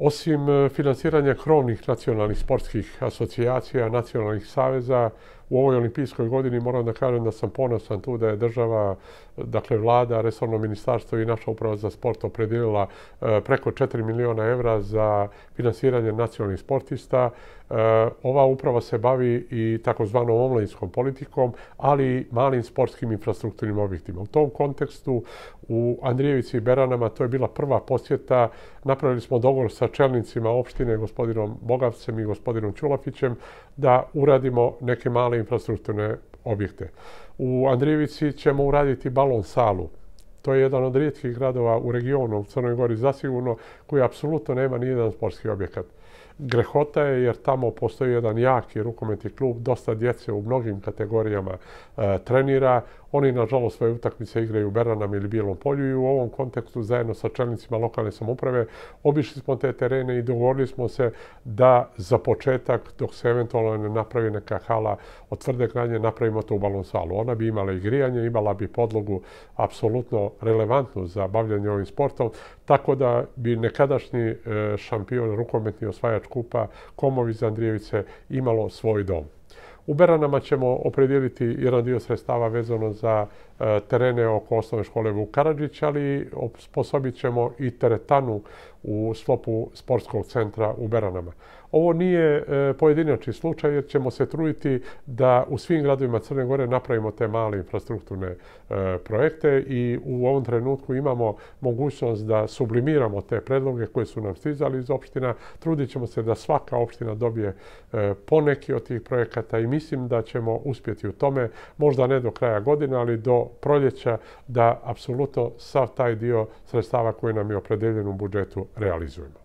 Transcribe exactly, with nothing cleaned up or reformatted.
Osim finansiranja krovnih nacionalnih sportskih asocijacija, nacionalnih saveza, u ovoj olimpijskoj godini moram da kažem da sam ponosan tu da je država, dakle vlada, resorno ministarstvo i naša uprava za sport opredelila preko četiri miliona evra za finansiranje nacionalnih sportista. Ova uprava se bavi i takozvanom omladinskom politikom, ali i malim sportskim infrastrukturnim objektima. U tom kontekstu u Andrijevici i Beranama to je bila prva posjeta. Napravili smo dogovor sa čelnicima opštine, gospodinom Bogavcem i gospodinom Ćulafićem, da uradimo neke male infrastrukturne objekte. U Andrijevici ćemo uraditi balon salu. To je jedan od rijetkih gradova u regionu, u Crnoj Gori zasigurno, koji apsolutno nema nijedan sportski objekat. Grehota je jer tamo postoji jedan jaki rukometni klub, dosta djece u mnogim kategorijama e, trenira. Oni, nažalost, svoje utakmice igraju u Beranama ili Bijelom Polju i u ovom kontekstu zajedno sa čelnicima lokalne samouprave obišli smo te terene i dogovorili smo se da za početak, dok se eventualno ne napravi neka hala od tvrde gradnje, napravimo tu balon salu. Ona bi imala i grijanje, imala bi podlogu apsolutno relevantnu za bavljanje ovim sportom, tako da bi nekadašnji šampion, rukometni osvajač kupa, Komovi iz Andrijevice, imalo svoj dom. U Beranama ćemo opredijeliti jedan dio sredstava vezano za terene oko osnovne škole Vuk Karadžić, ali osposobit ćemo i teretanu u sklopu sportskog centra u Beranama. Ovo nije pojedinačni slučaj jer ćemo se truditi da u svim gradovima Crne Gore napravimo te male infrastrukturne projekte i u ovom trenutku imamo mogućnost da sublimiramo te predloge koje su nam stizali iz opština. Trudit ćemo se da svaka opština dobije poneki od tih projekata i mislim da ćemo uspjeti u tome, možda ne do kraja godine, ali do proljeća, da apsolutno sav taj dio sredstava koji nam je opredeljen u budžetu realizujemo.